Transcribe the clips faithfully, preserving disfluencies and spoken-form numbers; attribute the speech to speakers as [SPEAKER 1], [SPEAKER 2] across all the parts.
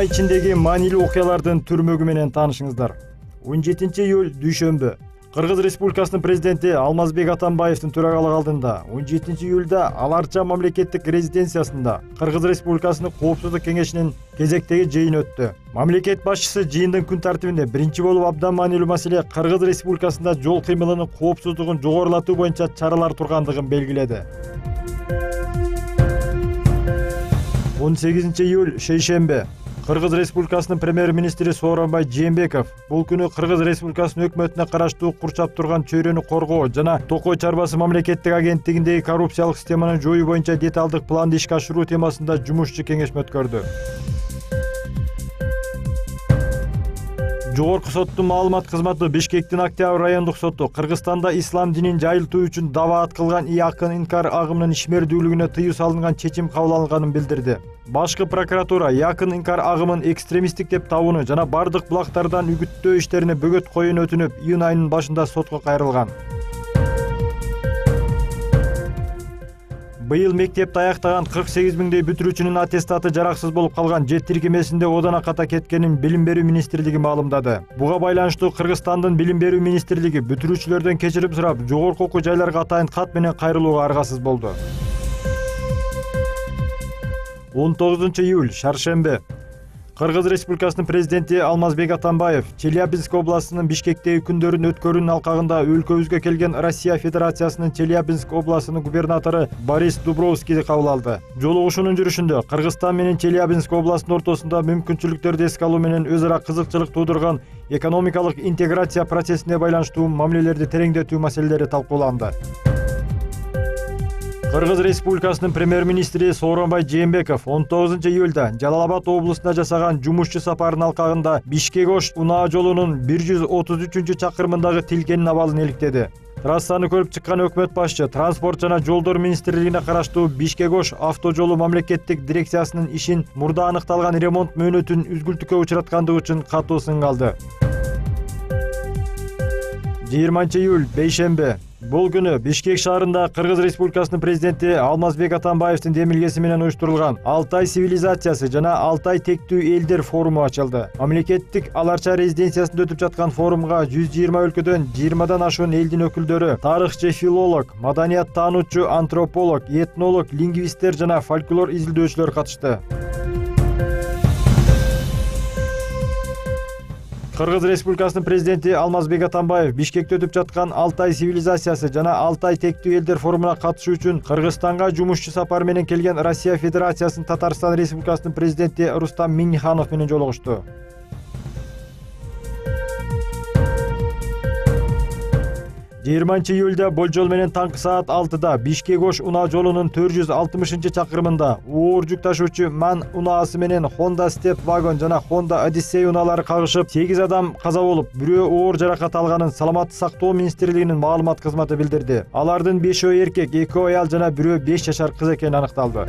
[SPEAKER 1] ай ичиндеги маанилүү окуялардын түрмөгү менен таанышыңыздар. он жетинчи июль дүйшөмбү. Кыргыз Республикасынын президенти Алмазбек Атамбаевдин төрагалык алдында он жетинчи июлда Аларча мамлекеттик резиденциясында Кыргыз Республикасынын Коопсуздук кеңешинин кезектеги жыйыны өттү. Мамлекет башчысы жыйындын күн тартибинде биринчи болуп абдан маанилүү маселе Кыргыз Республикасында жол кыймылынын коопсуздугун жогорулатуу боюнча чаралар тургандыгын белгиледи. он сегизинчи июль шейшембе. Кыргыз Республикасынын премьер-министри Сооронбай Жээнбеков бул күнү Кыргыз Республикасынын өкмөтүнө караштуу курчап турган чөйрөнү коргоо жана Токой чарбасы мамлекеттик агенттигиндеги коррупциялык системаны жоюу боюнча деталдык планды ишке ашыруу темасында жумушчу кеңешме өткөрдү. Жогорку соттун маалымат кызматы Бишкектин Октябрь райондук соту Кыргызстанда ислам динин жайылтуу үчүн даават кылган Якын инкар агымынын ишмердүүлүгүнө тыюу салынган чечим кабыл алынганын билдирди. Башкы прокуратура Якын инкар агымын экстремисттик деп табууну жана бардык булактардан үгүттөө иштерине бөгөт коюуну өтүнүп, июнь айынын башында сотко кайрылган. Быйыл мектепти аяктаган кырк сегиз миңдей бүтүрүүчүнүн аттестаты жараксыз болуп калган, жет тиркемесинде одона ката кеткенин Билим берүү министрлиги маалымдады. Буга байланыштуу Кыргызстандын Билим берүү министрлиги бүтүрүүчүлөрдөн кечирим сурап, жогорку окуу жайларга атайын кат менен кайрылууга аргасыз болду. он тогузунчу июль шаршембе. Кыргыз Республикасынын президенти Алмазбек Атамбаев Челябинск областынын Бишкектеги күндөрүн өткөрүүнүн алкагында өлкөбүзгө келген Россия Федерациясынын Челябинск областынын губернатору Борис Дубровскийди кабыл алды. Жолугушуунун жүрүшүндө Кыргызстан менен Челябинск областынын ортосунда мүмкүнчүлүктөрдү эске алуу менен өз ара кызыкчылык туудурган экономикалык интеграция процессине байланыштуу мамилелерди тереңдетүү маселелери талкууланды. Кыргыз Республикасынын премьер-министри Сооронбай Жээнбеков он тогузунчу июлда Жалал Абад облусуна жасаган жумушчу сапарынын алкагында Бишкек-Ош унаа жолунун бир жүз отуз үчүнчү чакырымындагы тилкенин абалын иликтеди. Трассаны көрүп чыккан өкмөт башчы Транспорт жана жолдор министрлигине караштуу Бишкек-Ош автожолу мамлекеттик дирекциясынын ишин мурда аныкталган ремонт мөөнөтүн үзгүлтүккө учураткандыгы үчүн катуу сынга алды. жыйырманчы июль бейшембе. Бул күнү Бишкек шаарында Кыргыз Республикасынын президенти Алмазбек Атамбаевдин демилгеси менен уюштурулган Алтай цивилизациясы жана Алтай тектүү элдер форуму ачылды. Мамлекеттик Аларча резиденциясында өтүп жаткан форумга жүз жыйырма өлкөдөн жыйырмадан ашуун элдин өкүлдөрү, тарыхчы, филолог, маданият таануучу, антрополог, этнолог, лингвисттер жана фольклор изилдөөчүлөр катышты. Кыргыз Республикасынын президенти Алмазбек Атамбаев Бишкекте өтүп жаткан Алтай цивилизациясы жана Алтай тектүү элдер форумуна катышуу үчүн Кыргызстанга жумушчу сапар менен келген Россия Федерациясынын Татарстан Республикасынын президенти Рустам Минниханов менен жолугушту. жыйырманчы июлда болжол менен таңкы саат алтыда Бишкек-Ош унаа жолунун төрт жүз алтымышынчы чакырымында оор жүк ташуучу Ман унаасы менен Honda Step Wagon жана Honda Odyssey унаалары кагышып, сегиз адам каза болуп, бирөө оор жаракат алганын Саламаттык сактоо министрлигинин маалымат кызматы билдирди. Алардын бешөө эркек, экөө аял жана бирөө беш жашар кыз экени аныкталды.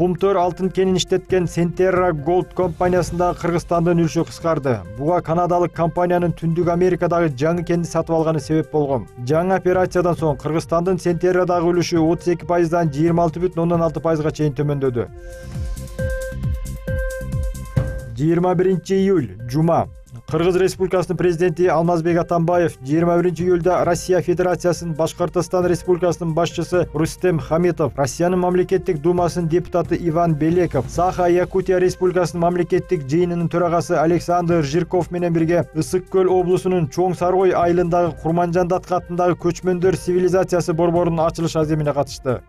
[SPEAKER 1] Кумтөр алтын кенин иштеткен Centerra Gold компаниясында Кыргызстандын үлүшү кыскарды. Буга канадалык компаниянын Түндүк Америкадагы жаңы кенди сатып алганы себеп болгон. Жаңы операциядан соң Кыргызстандын Centerradагы үлүшү отуз эки пайыздан жыйырма алты бүтүн ондон алты пайызга чейин төмөндөдү. жыйырма биринчи июль жума. Кыргыз Республикасынын президенти Алмазбек Атамбаев жыйырма биринчи июлда Россия Федерациясынын Башкортостон Республикасынын башчысы Рустем Хамитов, Россиянын мамлекеттик думасынын депутаты Иван Белеков, Саха-Якутия Республикасынын мамлекеттик жыйынынын төрагасы Александр Жирков менен бирге Ысык көл облусунун Чоң Сарой айылындагы Курманжандатка аттындагы көчмөндөр цивилизациясы борборунун ачылыш аземине катышты.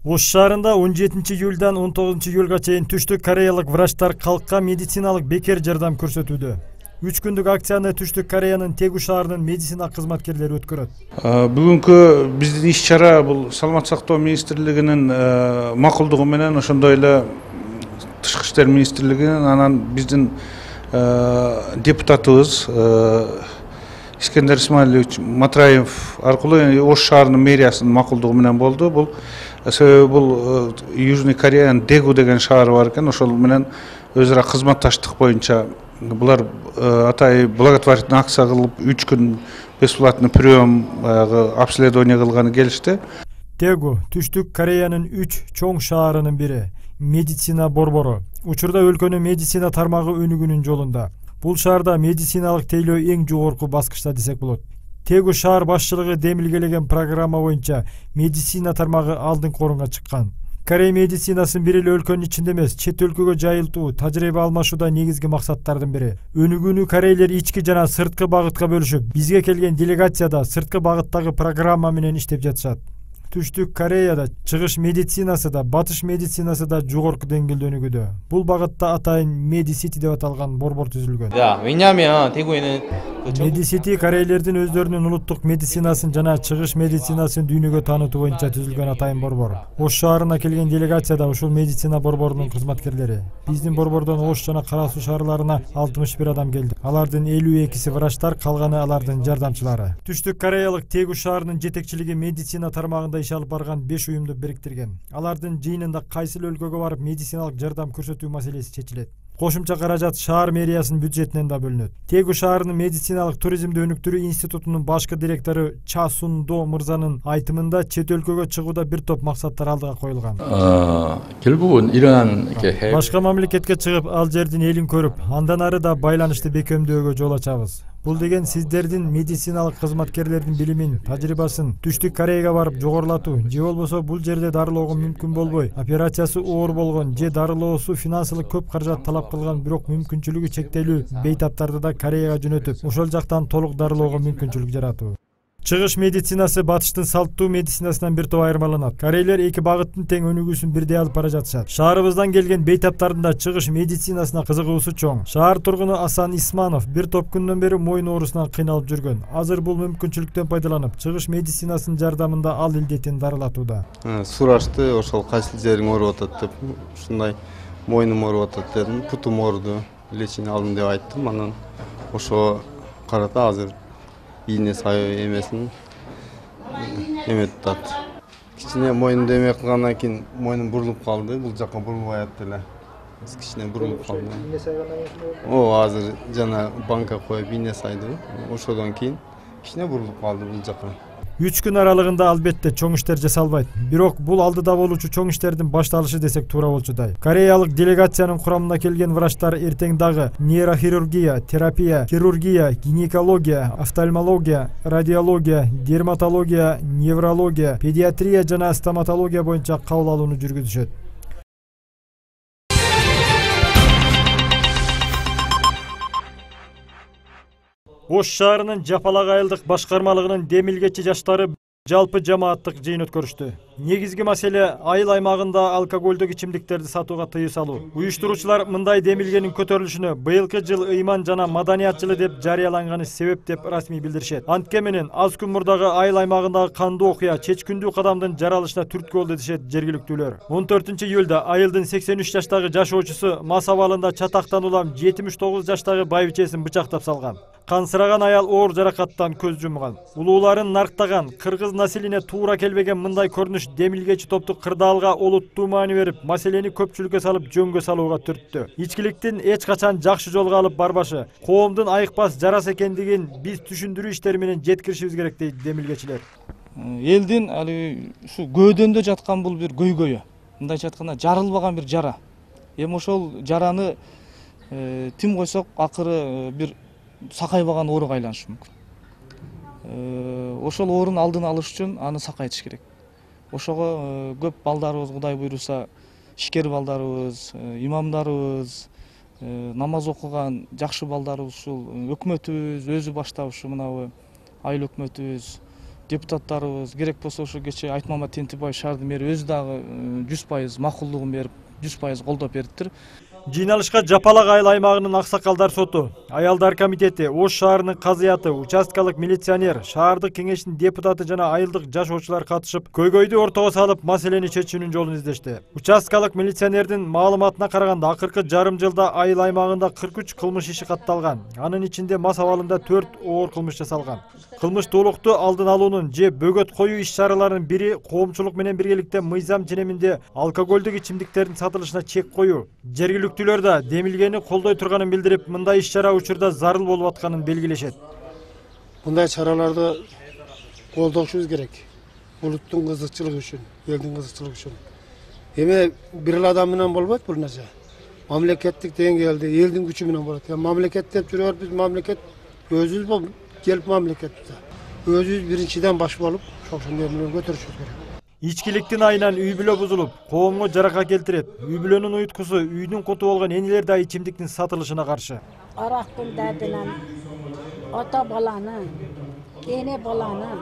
[SPEAKER 1] Ош шаарында он жетинчи июлдан он тогузунчу июлга чейин Түштүк Кореялык врачтар калкка медициналык бекер жардам көрсөтүүдө. үч күндүк акцияны Түштүк Кореянын Тегу шаарынын медицина кызматкерлери өткөрөт.
[SPEAKER 2] Бүгүнкү биздин иш-чара бул Саламаттык сактоо министрлигинин макулдугу менен, ошондой эле Тышкы иштер министрлигинин, анан биздин депутатыбыз Искендер Исмаилович Матраев аркылуу Ош шаарынын мэриясынын макулдугу менен болду. Бул Себеби бул Южный Кореянын Дэгу деген шаары бар экен, ошол менен өз ара кызматташтык боюнча булар атай благотворительный акция кылып үч күн бесплатный прием обследование кылганы келишти.
[SPEAKER 1] Дэгу Түштүк Кореянын үч чоң шаарынын бири, медицина борбору. Учурда өлкөнүн медицина тармагы өнүгүүнүн жолунда. Бул шаарда медициналык тейлөө эң жогорку баскычта десек болот. Дэгу шаар башчылыгы демилгелеген программа боюнча медицина тармагы алдыңкы орунга чыккан. Корей медицинасын бир эле өлкөнүн ичинде эмес, чет өлкөгө жайылтуу, тажрыйба алмашууда негизги максаттардын бири. Өнүгүүнү корейлер ички жана сырткы багытка бөлүшүп, бизге келген делегацияда сырткы багыттагы программа менен иштеп жатышат. Түштүк Кореяда чыгыш медицинасы да, батыш медицинасы да жогорку деңгээлде өнүгүүдө. Бул багытта атайын Медисити деп аталган борбор түзүлгөн.
[SPEAKER 3] 왜냐면 대구에는
[SPEAKER 1] Медисити корейлердин өздөрүнүн улуттук медицинасын жана чыгыш медицинасын дүйнөгө таанытуу боюнча түзүлгөн атайын борбор. Ош шаарына келген делегацияда ушул медицина борборунун кызматкерлери. Биздин борбордон Ош жана Кара Суу шаарларына алтымыш бир адам келди. Алардын элүү экиси врачтар, калганы алардын жардамчылары. Түштүк Кореялык Дэгу шаарынын жетекчилиги медицина тармагында иш алып барган беш уюмду бириктирген. Алардын жыйынында кайсыл өлкөгө барып медициналык жардам көрсөтүү маселеси чечилет. Кошумча каражат шаар мэриясынын бюджетинен да бөлүнөт. Дэгу шаарынын медициналык туризмди өнүктүрүү институтунун башкы директору Ча Сун До мырзанын айтымында чет өлкөгө чыгууда бир топ максаттар алдыга коюлган.
[SPEAKER 3] 결국은 이러한 이렇게
[SPEAKER 1] Башка мамлекетке чыгып, ал жердин элин көрүп, андан ары да байланышты бекемдөөгө жол ачабыз. Бул деген сиздердин медициналык кызматкерлердин билимин, тажрыйбасын Түштүк Кореяга барып жогорулатуу, же болбосо бул жерде дарылоого мүмкүн болбой, операциясы оор болгон же дарылоосу финансылык көп каражат талап кылган, бирок мүмкүнчүлүгү чектелүү бейтаптарды да Кореяга жөнөтүп, ошол жактан толук дарылоого мүмкүнчүлүк жаратуу. Чыгыш медицинасы батыштын салттуу медицинасынан бир топ айырмаланат. Корейлер эки багыттын тең өнүгүүсүн бирдей алып бара жатышат. Шаарыбыздан келген бейтаптардын да чыгыш медицинасына кызыгуусу чоң. Шаар тургуну Асан Исманов бир топ күндөн бери мойын оорусунан кыйналып жүргөн. Азыр бул мүмкүнчүлүктөн пайдаланып, чыгыш медицинасынын жардамында ал илдетин дарылатууда.
[SPEAKER 4] Сурашты, ошол кайсы жериң ооруп атат деп, ушундай мойнум ооруп атат дедим, путум ооруду, лечение алдым деп айттым. Анан ошо карата азыр ийне сай эмесин эметип атат. Кичине мойнумду эме кылгандан кийин мойнум бурулуп калды, бул жакка бурулбай атты эле. Кичине бурулуп калды. Ийне сайгандан кийин О, азыр жана банка коюп ийне сайды. Ошодон кийин кичине бурулуп калды бул жакка.
[SPEAKER 1] үч күн аралыгында албетте чоң иштер жасалбайт. Бирок бул алдыда болуучу чоң иштердин башталышы десек туура болчудай. Кореялык делегациянын курамына келген врачтар эртең дагы нейрохирургия, терапия, хирургия, гинекология, офтальмология, радиология, дерматология, неврология, педиатрия жана стоматология боюнча кабыл алууну жүргүзүшөт. Ош шаарынын Жапалак айылдык башкармалыгынын демилгечи жаштары жалпы жамааттык жыйын өткөрүштү. Негизги маселе айыл аймагында алкоголдук ичимдиктерди сатууга тыюу салуу. Уюштуруучулар мындай демилгенин көтөрүлүшүнө быйылкы жыл ыйман жана маданият жылы деп жарыяланганы себеп деп расмий билдиришет. Антке менен аз күн мурдагы айыл аймагындагы кандуу окуя чечкүндүү кадамдын жаралышына түрткү болду дешет жергиликтүүлөр. он төртүнчү июлда айылдын сексен үч жаштагы жашоочусу мас абалында чатактан улам жетимиш тогуз жаштагы байбичесин бычактап салган. Кансыраган аял оор жаракаттан көз жумган. Улууларын нарктаган, кыргыз населине туура келбеген мындай көрүнүш демилгечи топту кырдаалга олуттуу маани берип, маселени көпчүлүккө салып жөнгө салууга түрттү. Ичкиликтин эч качан жакшы жолго алып барбашы, коомдун айыкпас жарасы экендигин биз түшүндүрүү иштери менен жеткиришибиз керек дейт демилгечилер.
[SPEAKER 5] Элдин али ушу көөдөндө жаткан бул бир көйгөйү. Мындайча айтканда жарылбаган бир жара. Эми ошол жараны тим койсок акыры бир сакайбаган ооруга айланышы мүмкүн. Ошол оорунун алдын алыш үчүн аны сакайтыш керек. Ошого көп балдарыбыз Кудай буйруса, ишкер балдарыбыз, имамдарыбыз, намаз окуган жакшы балдарыбыз ушул өкмөтүбүз өзү баштап ушу мынабы айыл өкмөтүбүз, депутаттарыбыз керек болсо ошо кечээ Айтмамат Тентибаев шаардын мэри өзү дагы жүз пайыз макулдугун берип, жүз пайыз колдоп бериптир.
[SPEAKER 1] Жыйналышка Жапалак айыл аймагынын аксакалдар соту, аялдар комитети, Ош шаарынын казыяты, участкалык милиционер, шаардык кеңештин депутаты жана айылдык жашоочулар катышып, көйгөйдү ортого салып, маселени чечүүнүн жолун издешти. Участкалык милиционердин маалыматына караганда, акыркы жарым жылда айыл аймагында кырк үч кылмыш иши катталган. Анын ичинде мас абалында төрт оор кылмыш жасалган. Кылмыштуулукту алдын алуунун же бөгөт коюу иш-чараларынын бири коомчулук менен биргеликте мыйзам ченеминде алкоголдук ичимдиктердин сатылышына чек коюу. Жергиликтүүлөр да демилгени колдой турганын билдирип, мындай иш-чара учурда зарыл болуп атканын белгилешет.
[SPEAKER 6] Мындай чараларды колдошубуз керек. Улуттун кызыкчылыгы үчүн, элдин кызыкчылыгы үчүн. Эми бир эле адам менен болбойт бул нерсе. Мамлекеттик деңгээлде элдин күчү менен болот. Мамлекет деп жүрөбүз, мамлекет өзүбүз болуп келип мамлекетте. Өзүбүз биринчиден баш болуп, ошондой менен көтөрүшүбүз керек.
[SPEAKER 1] Ичкиликтин айынан үй бүлө бузулуп, коомго жарака келтирет. Үй бүлөнүн уйткусу, үйдүн куту болгон энелер да ичимдиктин сатылышына каршы.
[SPEAKER 7] Арактын дардынан ата баланы, эне баланы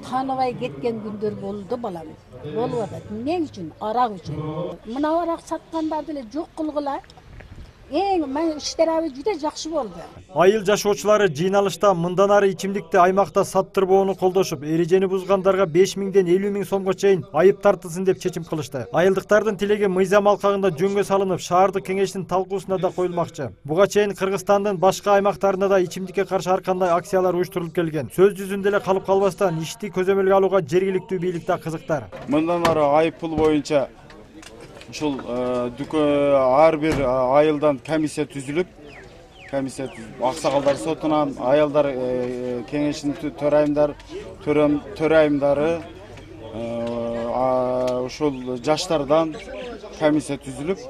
[SPEAKER 7] таныбай кеткен күндөр болду балам. Болуп атат. Эмне үчүн? Арак үчүн. Мына арак саткандарды эле жок кылгыла. Эң мен иштерабы жүдө жакшы болду.
[SPEAKER 1] Айыл жашоочулары жыйналышта мындан ары ичимдикти аймакта саттырбоону колдошуп, эрежени бузгандарга беш миңден элүү миң сомго чейин айып тартылсын деп чечим кылышты. Айылдыктардын тилеги мыйзам алкагында жөнгө салынып, шаардык кеңештин талкуусуна да коюлмакчы. Буга чейин Кыргызстандын башка аймактарында да ичимдикке каршы ар кандай акциялар уюштурулуп келген. Сөз жүзүндө эле калып калбастан ишти көзөмөлгө алууга жергиликтүү бийлик да кызыктар.
[SPEAKER 8] Мындан ары айып пул боюнча ушул ар бир айылдан комиссия түзүлүп, комиссия аксакалдар сотунан, аялдар кеңешинин төрайымдар, төрайымдары, ушул жаштардан комиссия түзүлүп,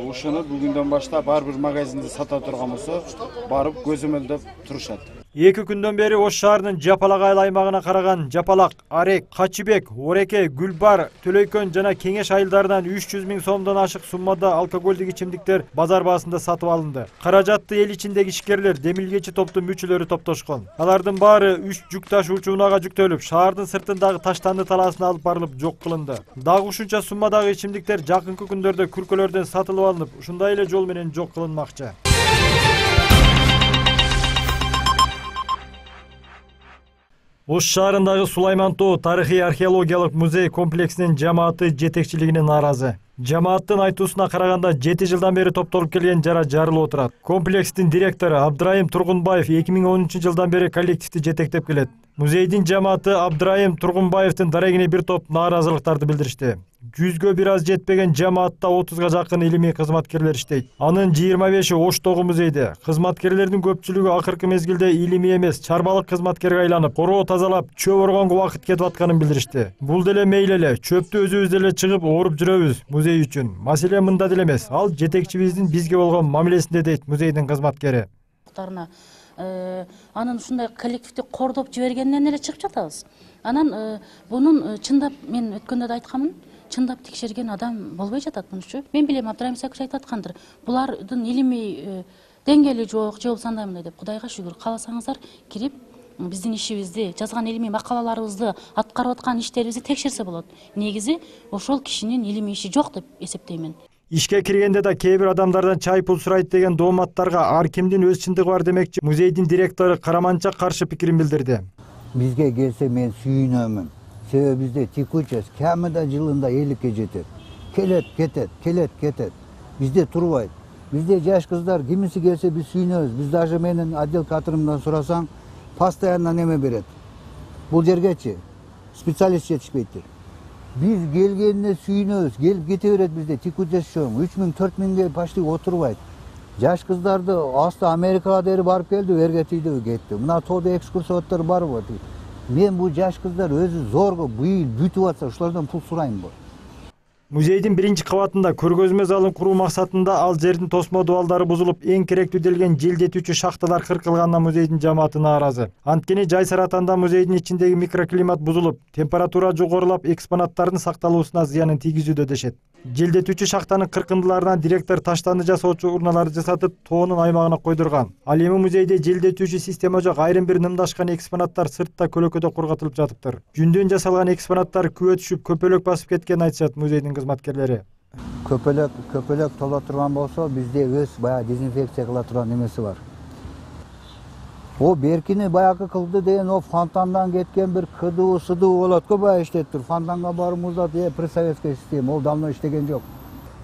[SPEAKER 8] ушуну бүгүндөн баштап ар бир магазинде сата турган болсо, барып көзөмөлдөп турушат.
[SPEAKER 1] Эки күндөн бери Ош шаарынын Жапалак айыл аймагына караган Жапалак, Арек, Качыбек, Ореке, Гүлбар, Төлөйкөн жана Кеңеш айылдарынан үч жүз миң сомдон ашык суммада алкоголдук ичимдиктер базар баасында сатып алынды. Каражатты эл ичиндеги ишкерлер, демилгечи топтун мүчөлөрү топтошкон. Алардын баары үч жүк ташуучу унаага жүктөлүп, шаардын сыртындагы Таштанды талаасына алып барылып жок кылынды. Дагы ушунча суммадагы ичимдиктер жакынкы күндөрдө күркөлөрдөн сатылып алынып, ушундай эле жол менен жок кылынмакчы. Ош шаарындагы Сулайман тоо тарыхый археологиялык музей комплексинин жамааты жетекчилигине нааразы. Жамааттын айтуусуна караганда жети жылдан бери топтолуп келген жара жарылып отурат. Комплекстин директору Абдрайым Тургунбаев эки миң онунчу жылдан бери коллективди жетектеп келет. Музейдин жамааты Абдрайым Тургунбаевдин дарегине бир топ нааразылыктарды билдиришти. Жүзгө бир аз жетпеген жамаатта отузга жакын илимий кызматкерлер иштейт. Анын жыйырма беши Оштогу музейде. Кызматкерлердин көпчүлүгү акыркы мезгилде илимий эмес, чарбалык кызматкерге айланып, короо тазалап, чөп оргонго убакыт кетип атканын билдиришти. Бул деле мейли эле, чөптү өзүбүз деле чыгып ооруп жүрөбүз музей үчүн. Маселе мында деле эмес. Ал жетекчибиздин бизге болгон мамилесинде дейт музейдин кызматкери.
[SPEAKER 9] Анын ушундай коллективди кордоп жибергенден эле чыгып жатабыз. Анан бунун чындап мен өткөндө да айтканмын. Чындап текшерген адам болбой жатат мунчу. Мен билем, Абдрайым Исакович айтып аткандыр. Булардын илимий деңгээли жок, же болбосо андай мындай деп. Кудайга шүгүр, кааласаңыздар кирип биздин ишибизди, жазган илимий макалаларыбызды, аткарып аткан иштерибизди текшерсе болот. Негизи ошол кишинин илимий иши жок деп эсептеймин.
[SPEAKER 1] Ишке киргенде да кээ бир адамдардан чай пул сурайт деген дооматтарга ар кимдин өз чындыгы бар демекчи. Музейдин директору Караманча каршы пикирин билдирди.
[SPEAKER 10] Бизге келсе мен сүйүнөмүн. Себеби бизде текучесть камыда жылында элүүккө жетет. Келет, кетет, келет, кетет. Бизде турбайт. Бизде жаш кыздар кимиси келсе биз сүйүнөбүз. Биз даже менин отдел кадырымдан сурасаң, постоянно неме берет. Бул жергечи специалист жетишпейт. Биз келгенине сүйүнөбүз, келип кете берет бизде текучесть чоң. үч миң төрт миңге почти отурбайт. Жаш кыздарды асты Америкага дери барып келди, эрге тийди кетти. Мына тоодо экскурсоводдор барбы? Мен бул жаш кыздар өзү зорго быйыл бүтүп атса, ушулардан пул сураймбы?
[SPEAKER 1] Музейдин биринчи кабатында көргөзмө залын куруу максатында ал жердин тосмо дубалдары бузулуп, эң керектүү делген желдетүүчү шахталар кыркылганына музейдин жамааты нааразы. Анткени жайсыратанда музейдин ичиндеги микроклимат бузулуп, температура жогорулап, экспонаттардын сакталуусуна зыянын тийгизүүдө дешет. Желдетүүчү шахтанын кыркындыларынан директор таштанды жасоочу урналарды жасатып, тоонун аймагына койдурган. Ал эми музейде желдетүүчү система жок, айрым бир нымдашкан экспонаттар сыртта көлөкөдө кургатылып жатыптыр. Жүндөн жасалган экспонаттар күбө түшүп, көпөлөк басып кеткенин айтышат музейдин кызматкерлери.
[SPEAKER 10] Көпөлөк көпөлөк тола турган болсо бизде өз баягы дезинфекция кыла турган немеси бар. О беркини баягы кылды деген о фонтандан кеткен бир кыдуу сыдуу болот го, баягы иштеп тур. Фонтанга барып муздат, э при советская система, ол давно иштеген жок.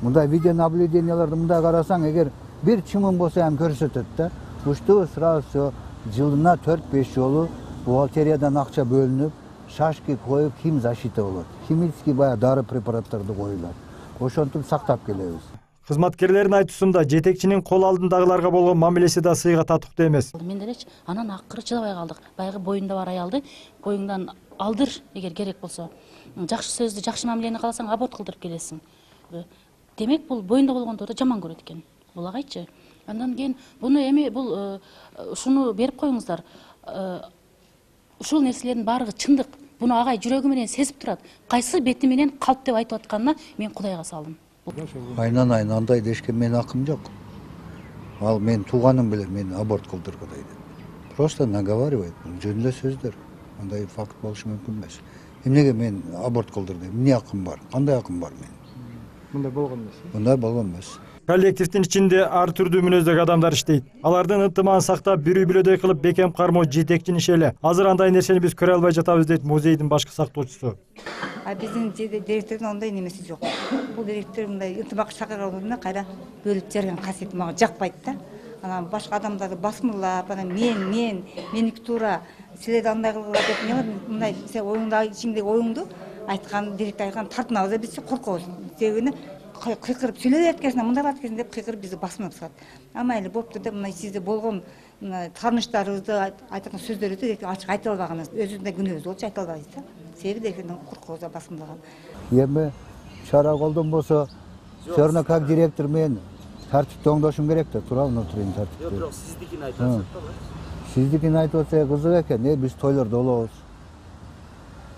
[SPEAKER 10] Мындай видеонаблюденияларды мындай карасаң, эгер бир чымын болсо ham көрсөтөт да. Ушту сразу все жылына төрт беш жолу бухгалтериядан акча бөлүнүп, шашки коюп, хим защита болот. Химический баягы дары препараттарды коюлат. Ошентип сактап келебиз.
[SPEAKER 1] Кызматкерлердин айтуусунда жетекчинин кол алдындагыларга болгон мамилеси да сыйга татыктуу эмес.
[SPEAKER 9] Мен делечи анан акыры чыдабай калдык. Баягы боюнда бар аялды боюңдан алдыр эгер керек болсо. Жакшы сөздү, жакшы мамилени кааласаң аборт кылдырып келесиң. Демек бул боюнда болгондорду жаман көрөт экен. Булагайчы. Андан кийин буну эми бул ушуну берип коюңуздар. Ушул нерселердин баардыгы чындык. Буну агай жүрөгү менен сезип турат. Кайсы бети менен калп деп айтып атканына мен Кудайга салдым.
[SPEAKER 10] Айнан айын андай дешкен менин акым жок. Ал мен тууганым билер мени аборт кылдыргыдай деп. Просто наговаривает. Жөнүндө сөздөр. Андай факт болушу мүмкүн эмес. Эмнеге мен аборт кылдырдым? Эмне акым бар? Кандай акым бар менин?
[SPEAKER 1] Мындай болгон эмес.
[SPEAKER 10] Мындай болгон эмес.
[SPEAKER 1] Коллективдин ичинде ар түрдүү мүнөздөгү адамдар иштейт. Алардын ынтымагын сактап, бирүү билөдөй кылып бекем кармоо жетекчинин иши эле. Азыр андай нерсени биз көрө албай жатабыз дейт музейдин башкы сактоочусу.
[SPEAKER 11] А биздин директордун ондай немеси жок. Бул директор мындай ынтымак чакырганда кайра бөлүп жарган касиети мага жакпайт да. Анан башка адамдарды басмырлап, анан мен, мен, меники туура, силер андай кылгыла деп эмне мындай сен оюңдагы ичиңдеги оюңду айткан директор айткан тартынабыз, биз коркобуз. Себеби кыйкырып сүйлөп аткесине мындай аткесине деп кыйкырып бизди басынып салат. А майли болупту деп мындай сизде болгон тааныштарыбызды айткан сөздөрүбүздү ачык айта албаганыбыз, өзүбүздүн күнөөбүз болчу айта албайбыз да. Себеби директордон коркобуз басымдаган.
[SPEAKER 10] Эми чара колдонбосо, все равно как директор мен тартипти оңдошум керек да, туура внутренний тартипти. Жок, бирок сиздикин айтып атсак да. Сиздикин айтып атса кызык экен, э биз тойлордо болобуз.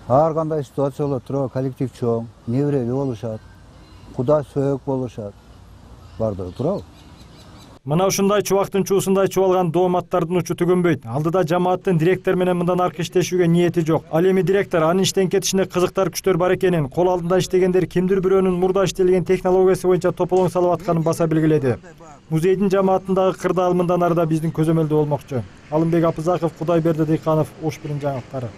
[SPEAKER 10] Ар кандай ситуация болот, туура коллектив чоң, неберели болушат. Куда сөөк болушат. Бардыгы туурабы?
[SPEAKER 1] Мына ушундай чубактын чуусундай чубалган дооматтардын учу түгөнбөйт. Алдыда жамааттын директор менен мындан аркы иштешүүгө ниети жок. Ал эми директор анын иштен кетишине кызыктар күчтөр бар экенин, кол алдында иштегендер кимдир бирөөнүн мурда иштелген технологиясы боюнча тополоң салып атканын баса белгиледи. Музейдин жамаатындагы кырдаал мындан арыда биздин көзөмөлдө болмокчу. Алымбек Апызаков, Кудайберди Дыйканов, Ош бирин жаңылыктары.